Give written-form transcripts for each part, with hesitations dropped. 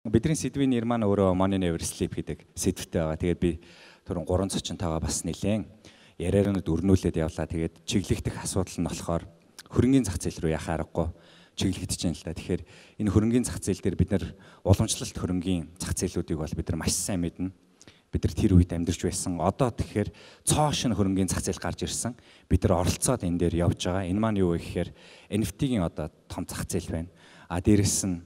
Бидний сэдвийн нэр маань өөрөө Money Never Sleep гэдэг сэдвтэй байгаа. Тэгээд би түрүүн 3 цочинтойгоо бас нэлээд яриараа өрнүүлээд явлаа. Тэгээд чиглэгдэх асуудал нь болохоор хөрөнгөний зах зээл рүү яхаа аргагүй чиглэгдэж байна л да. Тэгэхээр энэ хөрөнгөний зах зээл дээр бид нар уламжлалт хөрөнгөний зах зээлүүдийг бол бид нар маш сайн мэднэ. Бид нар тэр үед амьдарч байсан. Одоо тэгэхээр цоо шин хөрөнгөний зах зээл гарч ирсэн. Бид нар оролцоод энэ дээр явж байгаа. Энэ маань юу вэ гэхээр NFT-гийн одоо том зах зээл байна. Дээрэс нь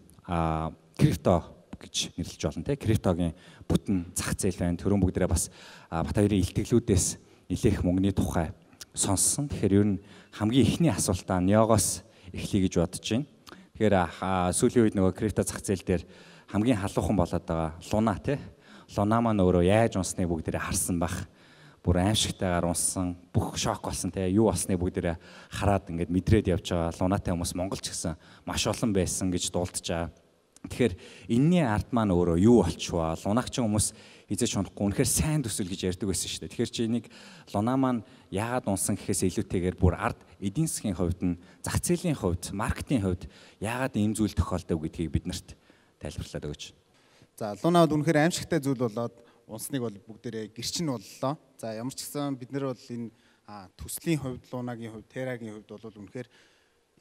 крипто гэж нэрлэж болно те. Криптогийн бүтэн зах зээл байна. Төрөн бүгдээрээ бас бат хоёрын илтгэлүүдээс нэлээх мөнгөний тухай сонссон. Тэгэхээр ер нь хамгийн ихний асуултаа Неогоос эхлэе гэж бодож байна. Тэгэхээр сүүлийн үед нөгөө крипто зах зээл дээр хамгийн халуухан болоод байгаа Луна те. Луна маань өөрөө яаж унсныг бүгдээрээ харсан бах. Бүр аимшигтайгаар унсан, бүх шок болсон те. Юу болсныг бүгдээрээ хараад ингээд мэдрээд явж байгаа. Лунатай хүмүүс Монголч гэсэн маш олон байсан гэж дуулдаж байгаа. Тэгэхээр энэний ард маань өөрөө юу болчихваа? Лунагчин хүмүүс хизээч унахгүй. Үнэхээр сайн төсөл гэж ярьдаг байсан шүү дээ. Тэгэхээр чи энийг Луна маань яагаад унсан гэхээс илүүтэйгээр бүр ард эдийн засгийн хувьд нь, зах зээлийн хувьд, маркетинг хувьд яагаад ийм зүйл тохиолдог гэдгийг биднэрт тайлбарлаад өгөөч. За Луна бол үнэхээр аимшигтай зүйл болоод унсныг бол бүгдээрээ гэрчин боллоо. За ямар ч гэсэн бид нар бол энэ төслийн хувьд, Лунагийн хувьд, Terra-гийн хувьд бол үнэхээр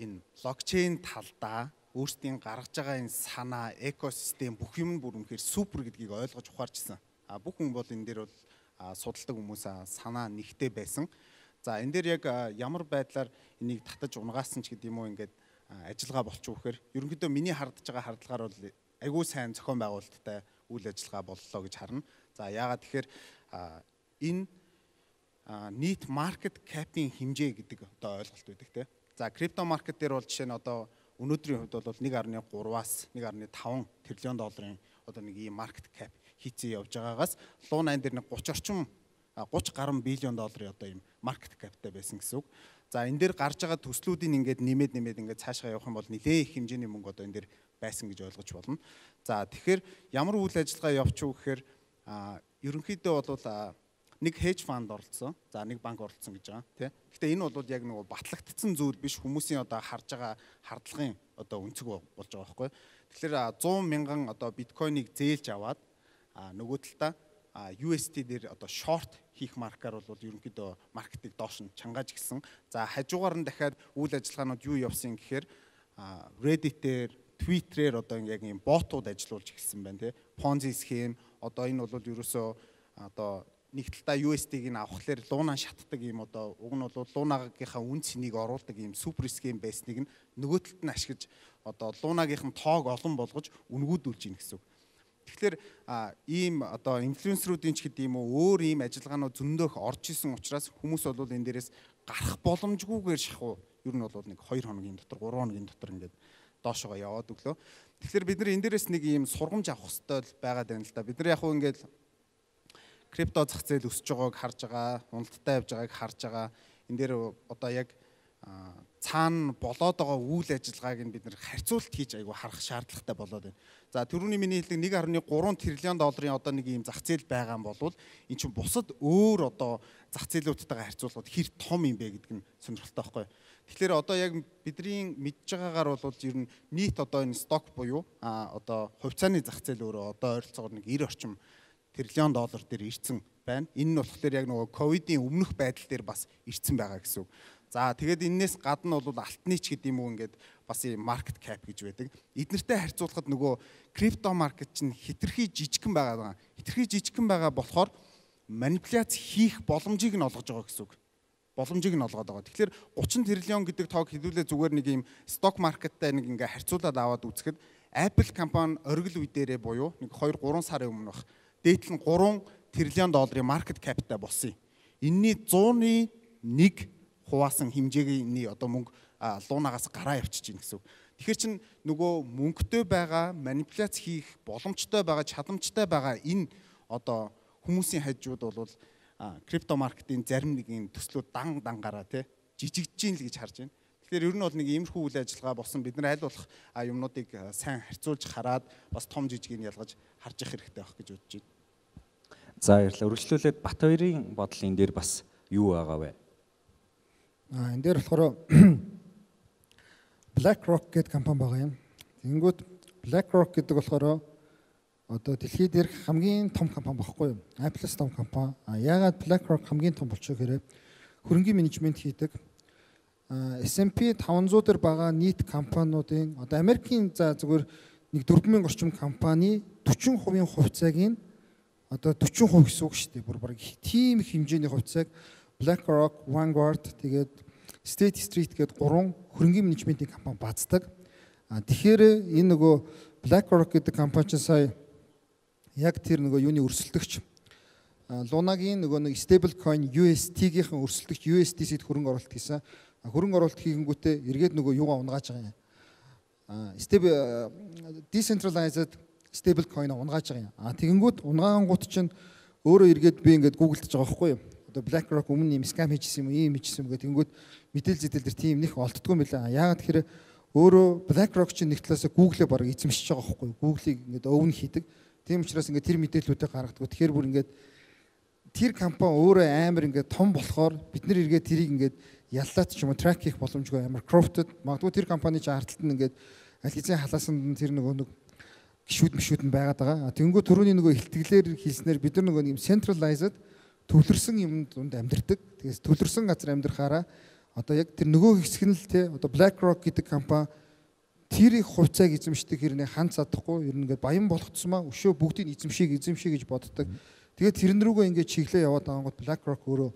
энэ блокчейн талдаа өөрсдийн гаргаж байгаа энэ санаа, экосистем бүх юм бүр үнэхээр супер гэдгийг ойлгож ухаарчсан. Бүх хүн бол энэ дээр бол судалдаг хүмүүс санаа нэгтэй байсан. За энэ дээр яг ямар байдлаар энийг татаж унгаасан ч гэдэг юм уу ингээд ажиллагаа болчих вөхөр ерөнхийдөө миний хардж байгаа хардлагаар бол айгүй сайн зохион байгуулалттай үйл ажиллагаа боллоо гэж харна. За яагаад тэгэхээр энэ нийт маркет капийн хэмжээ гэдэг одоо ойлголт байдаг те. За крипто маркет дээр бол жишээ нь одоо өнөөдрийн хувьд бол 1.3-аас 1.5 тэрлион долларын одоо нэг ийм маркет кап хийцээ явж байгаагаас Луна энэ дээр нэг 30 гаруй биллион долларын одоо ийм маркет каптай байсан гэсэн үг. За энэ дээр гарч байгаа төслүүдийн ингээд нэмээд ингээд цаашгаа явах юм бол нэлээд их хэмжээний мөнгө одоо энэ дээр байсан гэж ойлгож болно. За тэгэхээр ямар үйл ажиллагаа явуучих вэ гэхээр ерөнхийдөө бол нэг хедж фанд оролцсон. За нэг банк оролцсон гэж байгаа тий. Гэхдээ энэ бол яг нөгөө батлагдсан зүйл биш, хүмүүсийн одоо харж байгаа хардлагын одоо өнцөг болж байгаа байхгүй. Тэгэхээр 100 мянган одоо биткойныг зээлж аваад нөгөө талдаа USD дээр одоо шорт хийх маркаар бол ерөнхийдөө маркетыг доош нь чангааж гисэн. За хажуугаар нь дахиад үйл ажиллагаанууд юу явсан гэхээр Reddit-ээр, Twitter-ээр одоо яг ийм ботууд ажиллуулж эхэлсэн байна тий. Ponzi схем одоо энэ бол ерөөсөө одоо нэг талдаа USD-г авахлаар Луна шатдаг юм одоо уг нь бол Лунагийнхаа үн цэнийг оруулдаг юм супер схем байсныг нөгөө талд нь ашиглаж одоо Лунагийнхан тоог олон болгож үнгүүдүүлж ийн гэсэн үг. Тэгэхээр ийм одоо инфлюенсеруудын ч гэдэг юм уу өөр ийм ажиллагаанууд зөндөөх орж исэн учраас хүмүүс бол энэ дээрээс гарах боломжгүйгээр шахуу ер нь бол нэг 2 хоногийн дотор 3 хоногийн дотор ингээд доошоо яваад өглөө. Тэгэхээр бид нар энэ дээрээс нэг ийм сургамж авах хэрэгтэй байгаад байна л да. Бид нар яг хөө ингээд крипто зах зээл өсөж байгааг харж байгаа, уналттай явж байгааг харж байгаа. Энэ дээр одоо яг цаана болоод байгаа үйл ажиллагааг нь бид нэр харьцуулт хийж айгу харах шаардлагатай болоод байна. За түрүүний миний хэлдэг 1.3 тэрлион долларын одоо нэг ийм зах зээл байгаа юм бол эн чинь бусад өөр одоо зах зээлүүдтэйгээ харьцуулахад хэр том юм бэ гэдэг нь сонирхолтой байхгүй. Тэгэхээр одоо яг бидний мэдж байгаагаар бол ер нь нийт одоо энэ сток буюу одоо хувьцааны зах зээл өөрөө одоо ойролцоогоор нэг 90 орчим тэрлион доллар дээр ирсэн байна. Энэ нь болохоор яг нөгөө ковидын өмнөх байдал дээр бас ирсэн байгаа гэсэн үг. За тэгээд энэс гадна бол алтны ч гэдэг юм уу ингээд бас маркет кап гэж байдаг. Эднэртэй харьцуулахад нөгөө крипто маркет чинь хитрхи жижигхэн байгаа. Хитрхи жижигхэн байгаа болохоор манипуляц хийх боломжийг нь олгож байгаа гэсэн үг. Боломжийг нь олгоод байгаа. Тэгэхээр 30 тэрлион гэдэг тоог хэдүүлээ зүгээр нэг юм сток маркеттай нэг ингээ харьцуулаад аваад үзэхэд Apple компани оргил үе дээрээ буюу нэг 2-3 сарын өмнөх дээдл нь 3 тэрлион долларын маркет каптай болсон юм. Энэний 100-1 хуваасан хэмжээний одоо мөнгө Лунагаас гараа явчихж байна гэсэн үг. Тэгэхээр чин нөгөө мөнгөтэй байгаа, манипуляц хийх боломжтой байгаа, чадамжтай байгаа энэ одоо хүмүүсийн хажууд бол крипто маркетын зарим нэгэн төслүүд дангаараа тий жижигдэж ийн л гэж харж байна. Тэгэхээр ер нь бол нэг иймэрхүү үйл ажиллагаа болсон. Бид нар аль болох юмнуудыг сайн харьцуулж хараад бас том жижигийг ялгаж харж явах хэрэгтэй байх гэж бодож байна. За баярлалаа. Үргэлжлүүлээд Бат хоёрын бодол энэ дээр бас юу байгаа вэ? Энэ дээр болохоор BlackRock гэдэг компани байгаа юм. Тэнгүүд BlackRock гэдэг болохоор одоо дэлхий дээрх хамгийн том компани багхгүй юу? Apple-с том компани. Яагаад BlackRock хамгийн том болчих гэхээр хөрөнгийн менежмент хийдэг. S&P 500 дээр байгаа нийт компаниудын одоо Америкийн за зүгээр нэг 4000 орчим компани 40% хувьцааг нь одоо 40% гэсэн үг шүү дээ. Бүр бараг тийм их хэмжээний хувьцааг BlackRock, Vanguard тэгээд State Street гэдэг 3 хөрөнгийн менежментийн компани бааздаг. Тэгэхээр энэ нөгөө BlackRock гэдэг компани чинь сая яг тэр нөгөө юуны өрсөлдөгч Лунагийн нөгөө нэг stable coin UST-ийн өрсөлдөгч USDC-д хөрөнгө оруулалт хийсэн. Хөрөнгө оруулалт хийгэнгүүтээ эргээд нөгөө юугаа унгааж байгаа юм. Decentralized stable coin унгааж байгаа юм. Тэгэнгүүт унгаангууд чинь өөрөө эргээд би ингээд гуглдж байгаа байхгүй юу? Одоо BlackRock өмнө юм scam хийжсэн юм уу, ийм хийжсэн юм гэх тэгэнгүүт мэдээлэл зэтэл дээр тийм них олддгүй юм байна. Яагаад тэгэхээр өөрөө BlackRock чинь нэг талаас Google-ээ бараг эзэмшиж байгаа байхгүй юу? Google-ийг ингээд өвн хийдэг. Тийм учраас ингээд тэр мэдээллүүдээ гаргадаг. Тэгэхээр бүр ингээд тэр компани өөрөө амар ингээд том болохоор бид нэр эргээд тэрийг ингээд яллаад ч юм уу трак хийх боломжгүй амар crowded. Магадгүй тэр компани чинь ардталт нь ингээд аль хэзээ халаасанд тэр нэг гişүүд нь байгаад байгаа. Тэнгүү түрүүний нөгөө ихтгэлээр хэлснээр бид нар нөгөө юм centralized төвлөрсөн юмд амьдэрдэг. Тэгээс төвлөрсөн газар амьдрахаараа одоо яг тэр нөгөө хэсэг нь л те одоо BlackRock гэдэг компани тэр их хувьцааг эзэмшдэг хэрнээ ханд чадахгүй ер нь ингээд баян болох тусмаа өшөө бүгдийг эзэмшээ гэж боддог. Тэгээд тэрэн рүүгээ ингээд чиглээ яваад байгаа гот BlackRock өөрөө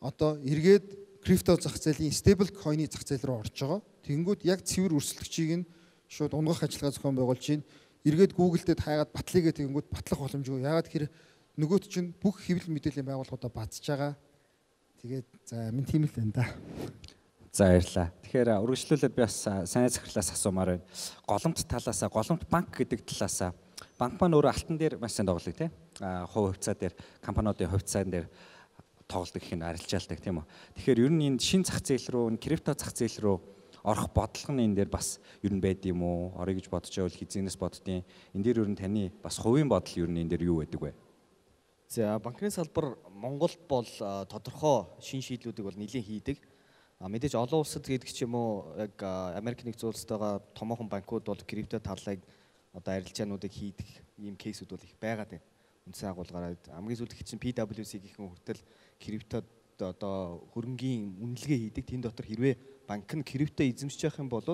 одоо эргээд крипто зах зээлийн stable coin-ы зах зээл рүү орж байгаа. Тэнгүүд яг цэвэр өрсөлдөгчийг нь шууд унгах ажиллагаа зохион байгуулж байна. Эргээд Google-дэд хайгаад батлыгээ тэнгүүд батлах боломжгүй. Яагаад гэхээр нөгөөт чинь бүх хэвлэл мэдээллийн байгууллагуудаа базж байгаа. Тэгээд за минь тийм л байна да. За баярлалаа. Тэгэхээр үргэлжлүүлээд би бас сайн захирлаас асуумаар байна. Голомт талаасаа, голомт банк гэдэг талаасаа банк маань өөрөө алтан дээр маш сайн тоглоё тий. Хувь хувьцаа дээр, компаниудын хувьцаан дээр тоглолт гэх нь арилжаалдаг тийм үү. Тэгэхээр ер нь энэ шин зах зээл рүү, крипто зах зээл рүү орох бодлого нь энэ дээр бас ер нь байд юм уу? Орё гэж бодож байвал хизэнээс боддیں۔ Энэ дээр ер нь таны бас хувийн бодол ер нь энэ дээр юу байдаг вэ? За банкны салбар Монголд бол тодорхой шин шийдлүүдийг бол нэлээд хийдэг. Мэдээж олон улсад гэдэг ч юм уу яг Америк нэгдсэн улстайгаа томоохон банкуд бол крипто талыг одоо арилжаануудыг хийдэг ийм кейсүүд бол их байгаад байна. Үндсэн агуулгаараа хамгийн сүүлд их чинь PwC гихэн хүртэл криптод одоо хөрөнгийн үнэлгээ хийдэг. Тэн дотор хэрвээ банк нь крипто эзэмшиж явах юм бол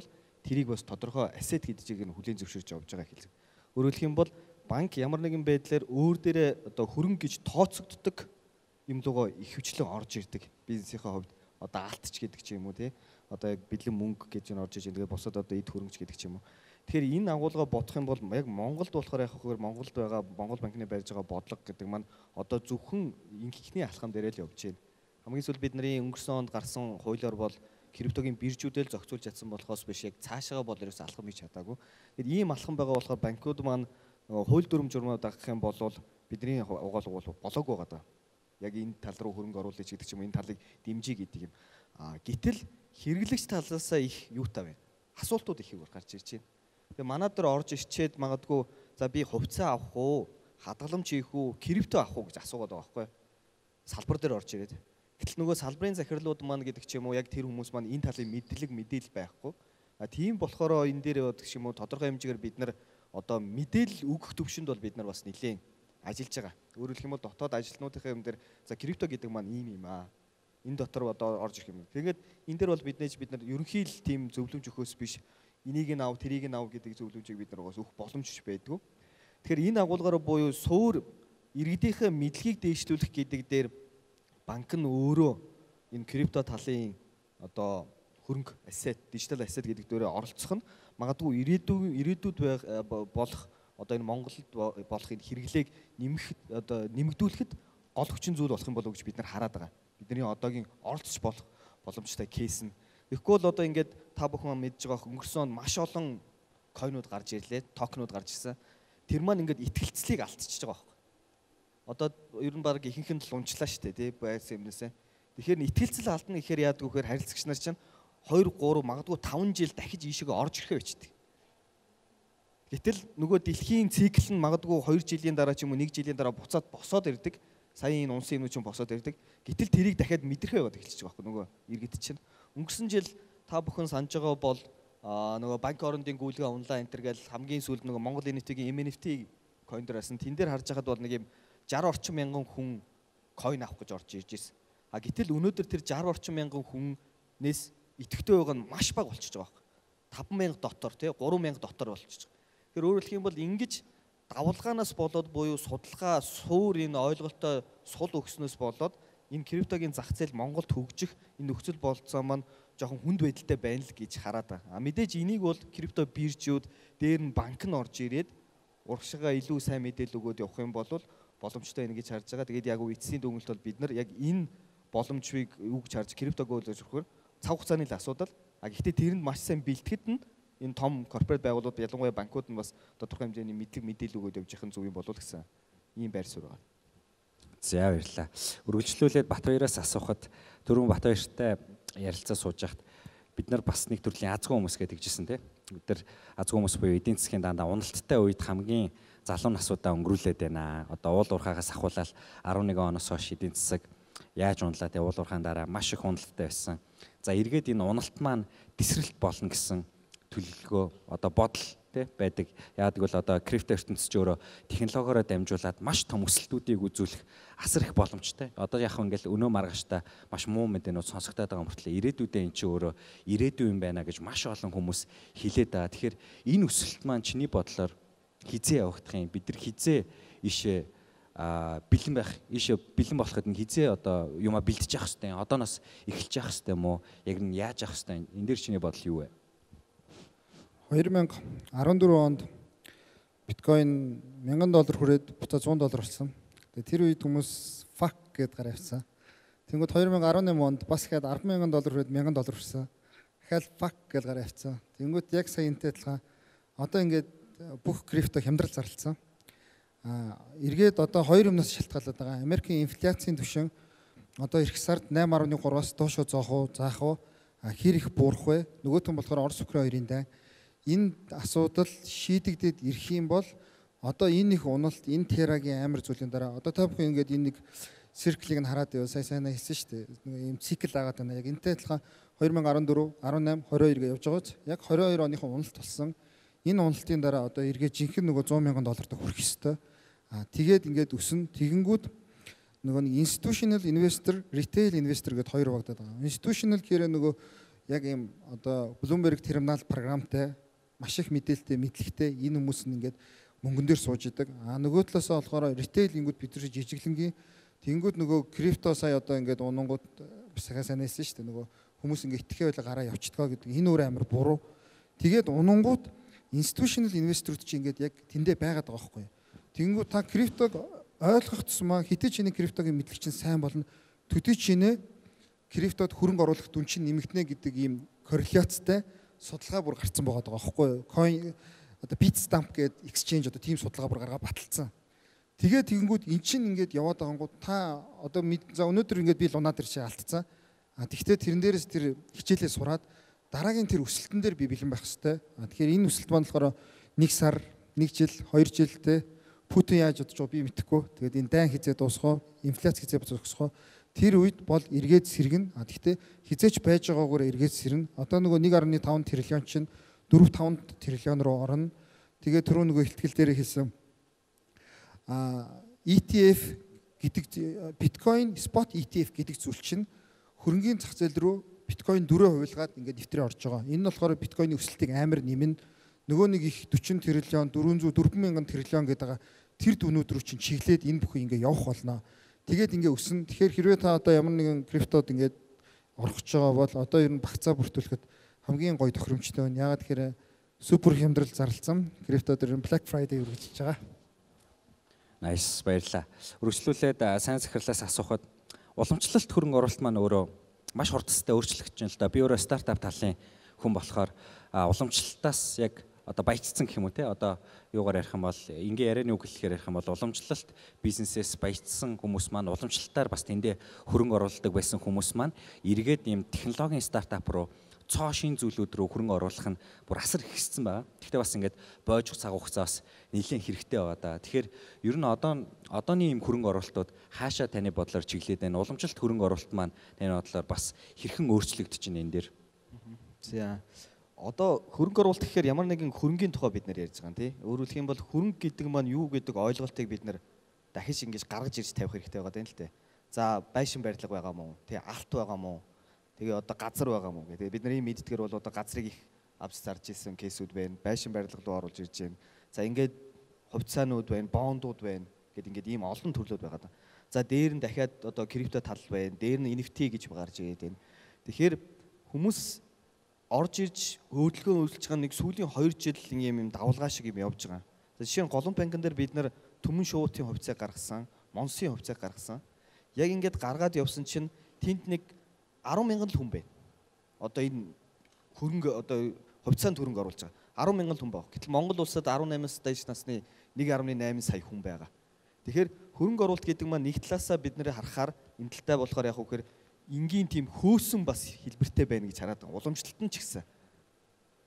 тэрийг бас тодорхой asset гэдэг чигээр нь хүлээн зөвшөөрч явж байгаа хэлдэг. Өөрөөр хэлэх юм бол банк ямар нэгэн байдлаар өөр дээрээ одоо хөрөнгө гэж тооцогддог юм лугаа их хвчлэн орж ирдэг. Бизнесийнхээ хувьд одоо алтч гэдэг ч юм уу тий. Одоо яг бэлэн мөнгө гэж нь орж иж байгаа. Босод одоо эд хөрөнгөч гэдэг ч юм уу. Тэгэхээр энэ агуулга бодох юм бол яг Монголд болохоор яг хөөөр Монголд байгаа Монгол банкны барьж байгаа бодлого гэдэг маань одоо зөвхөн инхний алхам дээрээ л явж байна. Хамгийн сүүл бидний өнгөрсөн онд гарсан хуулиар бол криптогийн биржүүдэл зохицуулж чадсан болохоос биш яг цаашаа бол ерөөс алхам хийж чадаагүй. Тэгэхээр ийм алхам байгаа болохоор банкуд маань хууль дүрм журмууд дагах юм бол бидний угаалгуул болоогүй байгаа. Яг энэ тал руу хөрөнгө оруулах гэдэг ч юм энэ талыг дэмжиж гэдэг юм. Гэтэл хэрэглэгч талаасаа их юутай байна. Асуултууд их гарч ирж байна. Тэгээ манад дээр орж ирчээд магадгүй за би хувьцаа авах уу, хадгаламж хийх үү, крипто авах уу гэж асуугаад байгаа байхгүй. Салбар дээр орж ирээд. Гэтэл нөгөө салбарын захирлууд маань гэдэг ч юм уу яг тэр хүмүүс маань энэ талын мэдээлэл байхгүй. Тийм болохоор энэ дээр гэдэг ч юм уу тодорхой хэмжээгээр бид нар одоо мэдээлэл өгөх төвшөнд бол бид нар бас нэлээд ажиллаж байгаа. Өөрөөр хэлэх юм бол дотоод ажилтнуудынхаа юм дээр за крипто гэдэг маань ийм юм аа. Энэ дотор одоо орж ирэх юм. Тэгээд энэ дээр бол бид нар ерөнхий л тийм зөвлөмж өгөхөөс биш энийг нь ав, тэрийг нь ав гэдэг зөвлөмжийг бид нар өгөх боломжч байдгүй. Тэгэхээр энэ агуулгаараа буюу суур иргэдийнхээ мэдлэгийг дээшлүүлэх гэдэг дээр банк нь өөрөө энэ крипто талын одоо хөрөнгө asset, digital asset гэдэг дээрээ оролцох нь магадгүй ирээдүйд болох одоо энэ Монголд болох энэ хэрэглээг нэмэгдүүлэхэд гол хүчин зүйл болох юм болов уу гэж бид нар хараад байгаа. Бидний одоогийн оролцож болох боломжтой кейс нь. Тэгэхгүй бол одоо ингээд та бүхэн мэдж байгаа өнгөрсөн маш олон койнууд гарч ирлээ, токенууд гарч ирсэн. Тэр маань ингээд итгэлцлийг алдчихж байгаа байхгүй. Одоо ер нь баг ихэнх нь л унчлаа шүү дээ, тий байсан юмнасаа. Тэгэхээр итгэлцэл алдна гэхээр яадаг вэхээр харилцагч нар чинь 2, 3 магадгүй 5 жил дахиж ийшээгээ орж ирэхээ бичдэг. Гэтэл нөгөө дэлхийн цикл нь магадгүй 2 жилийн дараа ч юм уу 1 жилийн дараа буцаад босоод ирдэг. Сая энэ унсын юмнууд чинь босоод ирдэг. Гэтэл тэрийг дахиад мэдрэхээ яваад эхэлчихэж байгаа байхгүй нөгөө иргэд чинь. Өнгөрсөн жил та бүхэн санаж байгаа бол нөгөө банк орондын гүйлгээ онлайн энтер гэл хамгийн сүүлд нөгөө Монгол NFT-ийн MNFT coin дээрсэн тэн дээр харж байхад бол нэг юм 60 орчим мянган хүн coin авах гэж орж ирж байсан. А гэтэл өнөөдөр тэр 60 орчим мянган хүнээс идэвхтэй байгаа нь маш бага болчихж байгаа байхгүй. 5,000 дотор тий 3,000 дотор болчихж байгаа. Тэгэхээр өөрөөр хэлэх юм бол ингэж давалгаанаас болоод буюу судалгаа суур энэ ойлголттой сул өгснөөс болоод энэ криптогийн зах зээл Монголд хөгжих энэ нөхцөл болцоо маань жоохон хүнд байдалтай байна л гэж хараад байгаа. Мэдээж энийг бол крипто биржүүд дээр нь банк нь орж ирээд урагшаага илүү сайн мэдээлэл өгөөд явах юм бол боломжтой байна гэж харж байгаа. Тэгээд яг эцсийн дүгнэлт бол бид нар яг энэ боломжийг юу гэж харж криптог өөрөөр хэлбэл цав хугацааны л асуудал. Гэхдээ тэрэнд маш сайн бэлтгэхэд нь энэ том корпорат байгууллагууд ялангуяа банкуд нь бас тодорхой хэмжээний мэдээлэл өгөөд явж явах нь зөв юм болов гэсэн ийм байр суурь байна. За баярлалаа. Үргэлжлүүлээд Батбаяраас асуухад түрүүн Батбаяртай ярилцаа сууж хахад бид нар бас нэг төрлийн азгүй хүмүүс гэдэг жисэн тийм. Бид нар азгүй хүмүүс буюу эдийн засгийн дандаа уналттай үед хамгийн залуу насуудаа өнгөрүүлээд байна. Одоо уул уурхаагаас ахуулаад 11 оноос хойш эдийн засаг яаж унлаа тийм уул уурхаан дараа маш их уналттай байсан. За эргээд энэ уналт маань тесрэлт болно гэсэн төлөвлөгөө одоо бодол тий байдаг. Яадаг бол одоо крипто ертөнцийн өөрөө технологиороо дамжуулаад маш том өсөлтүүдийг үзүүлэх асар их боломжтой. Одоо яг ингээл өнөө маргааштай маш муу мэдээнүүд сонсогдоод байгаа мөртлөө ирээдүйдээ эн чинь өөрөө ирээдүй юм байна гэж маш олон хүмүүс хэлээд байгаа. Тэгэхээр энэ өсөлт маань чиний бодлоор хизээ явагдах юм? Бид нар хизээ ишээ бэлэн байх, ишээ бэлэн болоход нь хизээ одоо юма бэлдэж явах хэрэгтэй. Одооноос эхэлж явах хэрэгтэй юм уу? Яг нь яаж явах хэрэгтэй? Энд дээр чиний бодол юу вэ? 2014 онд биткойн $1000 хүрээд буцаа $100 болсон. Тэгээ тэр үед хүмүүс fuck гэд гараа явсан. Тэнгүүд 2018 онд бас ихэд $10,000 хүрээд $1,000 хүрсэн. Дахиад fuck гэд гараа явсан. Тэнгүүд яг сая энтэй адилхан одоо ингээд бүх крипто хямдрал зарлцсан. Эргээд одоо хоёр юмнаас шалтгаалаад байгаа. Америкийн инфляцийн түвшин одоо эх сард 8.3-аас доошо заах уу? Хэр их буурах вэ? Нөгөөх нь болохоор Орос Украин хоёрын дай. Энэ асуудал шийдэгдээд ирэх юм бол одоо энэ их уналт, энэ терагийн амар зүйлийн дараа одоо та бүхэн ингээд энэ нэг цирклийг нь хараад байв. Сайн хэлсэн шүү дээ. Нэг юм цикл агаад байна. Яг энтэй адилхан 2014, 18, 22 гэж явж байгааз яг 22 оныхон уналт болсон. Энэ уналтын дараа одоо эргээ жинхэнэ нөгөө $100,000 хүрэх ёстой. Тэгээд ингээд өснө. Тэгэнгүүт нөгөө нэг institutional investor, retail investor гэдэг хоёр багтаад байгаа. Institutional гэхээр нөгөө яг юм одоо Bloomberg терминал програмтай маш их мэдээлэлтэй, мэдлэгтэй энэ хүмүүс нь ингээд мөнгөн дээр сууж идэг. Нөгөө талаасаа болохоор retail ингүүд бид нар жижиглэнгийн тэнгүүд нөгөө крипто сая одоо ингээд унангууд сахаа санаасан шүү дээ. Нөгөө хүмүүс ингээд итгэхээ байла гараа явчихдгаа гэдэг. Энэ өөр амар буруу. Тэгээд унангууд institutional investor-ууд чинь ингээд яг тэндээ байгаад байгаа байхгүй юу. Тэнгүүд та криптог ойлгох тусмаа хитэ чиний криптогийн мэдлэг чинь сайн болно. Төдий чинээ криптод хөрөнгө оруулах дүн чинь нэмэгдэнэ гэдэг ийм корреляцтай судалгаа бүр гарцсан байгаа байхгүй юу. Coin одоо Bitstamp гэдэг exchange одоо тийм судалгаа бүр гаргаа баталсан. Тэгээд тэгэнгүүт эн чинь ингээд яваад байгаангууд та одоо за өнөөдөр ингээд би лунаа дээр чи алдцсан. Тэгвэл тэрэн дээрээс тэр хичээлээ сураад дараагийн тэр өсөлтөн дээр би бэлэн байх хэрэгтэй. Тэгэхээр энэ өсөлт маань болохоор 1 сар, 1 жил, 2 жилтэй Путин яаж бодож байгаа би мэдэхгүй. Тэгээд энэ дайн хизээ дуусах, инфляц хизээ зогсох. Тэр үед бол эргээд сэргэн. Гэхдээ хизээч байж байгаагаар эргээд сэрнэ. Одоо нөгөө 1.5 триллион чинь 4-5 триллион руу орно. Тэгээд түрүү нөгөө ихтгэл дээр хэлсэн ETF гэдэг биткойн спот ETF гэдэг зүйл чинь хөрөнгөний зах зээл рүү биткойн 4 хувилгаад ингээд дэвтрээ орж байгаа. Энэ нь болохоор биткойны өсөлтийг амар нэмнэ. Нөгөө нэг их 40 триллион 400 триллион гэдэг тэр дүнүүд рүү чинь чиглээд энэ бүхэн ингээд явах болно. Тэгээд ингээд өснө. Тэгэхээр хэрвээ та одоо ямар нэгэн криптод ингээд орох гэж байгаа бол одоо ер нь багцаа бүртгүүлэхэд хамгийн гоё тохиромжтой байна. Яагаад тэгэхээр супер хямдрал зарлцсан. Криптод ер нь Black Friday үргэлжлэж байгаа. Nice, баярлалаа. Үргэлжлүүлээд сайн захирлаас асуухад уламжлалт хөрөнгө оруулалт маань өөрөө маш хурдтай өөрчлөгдөж байна л да. Би өөрөө стартап талын хүн болохоор уламжлалтаас яг одоо баяжцсан гэх юм уу те одоо юугаар ярих юм бол ингээ ярианы үг хэлэхээр ярих юм бол уламжлалт бизнесээс баяжцсан хүмүүс маань уламжлалтаар бас тэндээ хөрөнгө оруулдаг байсан хүмүүс маань эргээд ийм технологийн стартап руу цоо шин зүйлүүд рүү хөрөнгө оруулах нь бүр асар ихссэн байгаа. Гэхдээ бас ингээд бойж цаг хугацаас нэлээд хэрэгтэй байгаа да. Тэгэхээр ер нь одооны ийм хөрөнгө оруулалтууд хаашаа таны бодлоор чиглээд байна? Уламжлалт хөрөнгө оруулалт маань таны бодлоор бас хэрхэн өөрчлөгдөж байна энэ дээр? За Одоо хөрөнгө оруулалт гэхээр ямар нэгэн хөрөнгөний тухай бид нар ярьж байгаа юм тий. Өөрөөр хэлэх юм бол хөрөнгө гэдэг маань юу гэдэг ойлголтыг бид нар дахиж ингэж гаргаж ирж тавих хэрэгтэй байгаа юм л дээ. За байшин барилга байгаа мó, тий алт байгаа мó. Тэгээ одоо газар байгаа мó гэдэг. Бид нар ийм мэддгээр бол одоо газрыг их авч зарж исэн кейсүүд байна. Байшин барилга руу оруулж ирж байна. За ингээд хувьцаанууд байна, бондууд байна гэд ингээд ийм олон төрлүүд байгаа. За дээр нь дахиад одоо крипто тал байна. Дээр нь NFT гэж гарч ирээд байна. Тэгэхээр хүмүүс орж ирж хөдөлгөөн үйлчилж байгаа нэг сүүлийн 2 жил ийм давлгаа шиг юм явж байгаа. За жишээ нь Голомт банкн дээр бид нар Түмэн шуутын хувьцааг гаргасан, Монсын хувьцааг гаргасан. Яг ингээд гаргаад явсан чинь тэнд нэг 10,000 хүн байна. Одоо энэ хөрөнгө одоо хувьцаанд хөрөнгө оруулж байгаа 10,000 хүн байна. Гэтэл Монгол улсад 18-аас дээш насны 1.8 сая хүн байгаа. Тэгэхээр хөрөнгө оруулалт гэдэг маань нэг талаасаа бид нэр харахаар энэ талтай болохоор яг үхээр энгийн тийм хөөсөн бас хэлбэртэй байна гэж хараад байгаа. Уламжлалт нь ч гэсэн.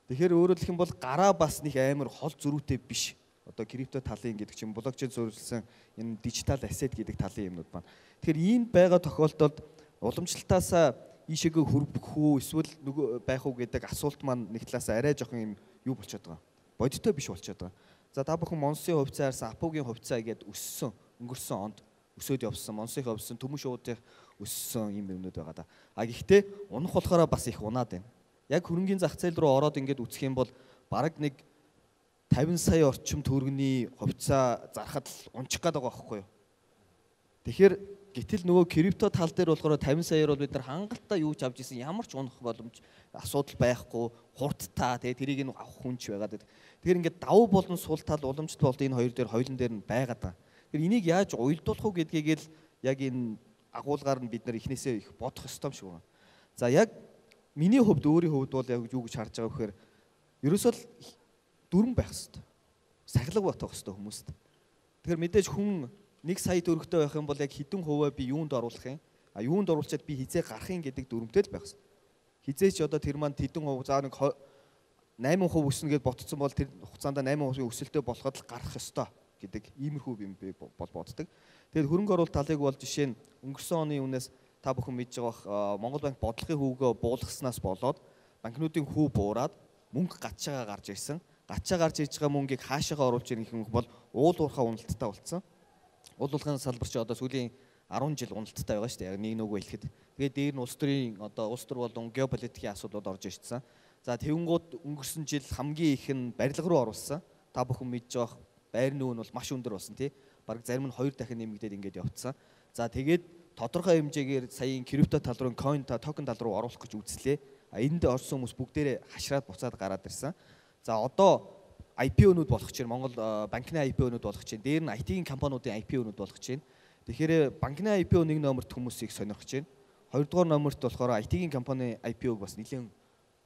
Тэгэхээр өөрөөр хэлэх юм бол гараа бас нэг амар хол зөрүүтэй биш. Одоо крипто талын гэдэг чинь блокчейн суурилсан энэ дижитал ассет гэдэг талын юмнууд байна. Тэгэхээр ийм байгаа тохиолдолд уламжлалтаасаа ийшээгээ хөрвөх үү эсвэл нөгөө байх уу гэдэг асуулт маань нэг талаасаа арай жоохон юм юу болчиход байгаа. Бодиттой биш болчиход байгаа. За та бүхэн Монсын хувьцаа харсан, Апогийн хувьцаа гэдэг өссөн, өнгөрсөн онд өсөөд явсан, Монсынх явсан, Түмэн шуудын өссөн юм юмнууд байгаа да. А гэхдээ унах болохоор бас их унаад байна. Яг хөрөнгөний зах зээл рүү ороод ингээд үсэх юм бол бараг нэг 50 сая орчим төгрөгийн хувьцаа зархад л унчих гээд байгаа байхгүй юу. Тэгэхээр гэтэл нөгөө крипто тал дээр болохоор 50 саяар бол бид нар хангалттай юу ч авч исэн ямар ч унах боломж асуудал байхгүй, хурдтай тэгээ тэрийг нь авах хүнч байгаад. Тэгэхээр ингээд давуу болон сул тал уламжлалт болд энэ хоёр дээр хоёулын дээр нь байгаад байгаа. Тэгэхээр энийг яаж уйлдуулах уу гэдгийг л яг энэ агуулгаар нь бид нар эхнээсээ их бодох ёстой юм шиг байна. За яг миний хувьд өөрийн хувьд бол яг юу гэж харж байгаа вэхээр ерөөсөө дүрэн байх хэрэгтэй. Сахилга батах хэрэгтэй хүмүүст. Тэгэхээр мэдээж хүн 1 сая төгрөгтэй байх юм бол яг хэдэн хувиа би юунд оруулах юм? А юунд оруулчаад би хизээ гарах юм гэдэг дүрмтэй л байх хэрэгтэй. Хизээч одоо тэр манд хэдэн хувь заа нэг 8% өснө гэж ботцсон бол тэр хугацаанд 8% өсөлтөө болоход л гарах ёстой гэдэг иймэрхүү юм би боддог. Тэгээд хөрөнгө оруулалт талыг бол жишээ нь өнгөрсөн оны үнээс та бүхэн мэдж байгаа Монгол банк бодлогын хөвгөө буулгаснаас болоод банкнуудын хөв буураад мөнгө гачаагаа гарч ирсэн. Гачаа гарч ирж байгаа мөнгийг хаашаага оруулж ирэх юм бол уул уурхай уналттай болцсон. Уул уурхайн салбар чи одоо сүүлийн 10 жил уналттай байгаа шүү дээ. Яг нэг нүгөө хэлэхэд. Тэгээд дээр нь улс төрийн одоо улс төр болон геополитикийн асуудлууд орж ирсэн. За тэгэнгүүт өнгөрсөн жил хамгийн их нь барилга руу оруулсан. Та бүхэн мэдж байгаа байр нүүн бол маш өндөр болсон тий. Бараг зарим нь 2 дахин нэмэгдээд ингээд явцсан. За тэгээд тодорхой хэмжээгээр саяын крипто тал руу, coin токен тал руу оруулах гэж үзлээ. Энд орсон хүмүүс бүгдээрээ хашраад буцаад гараад ирсэн. За одоо IPO-нууд болох чинь Монгол банкны IPO-нууд болох чинь дээр нь IT-ийн компаниудын IPO-нууд болох чинь. Тэгэхээр банкны IPO нэг номерт хүмүүсийг сонирхож байна. Хоёрдугаар номерт болохоор IT-ийн компани IPO-г бас нэлээд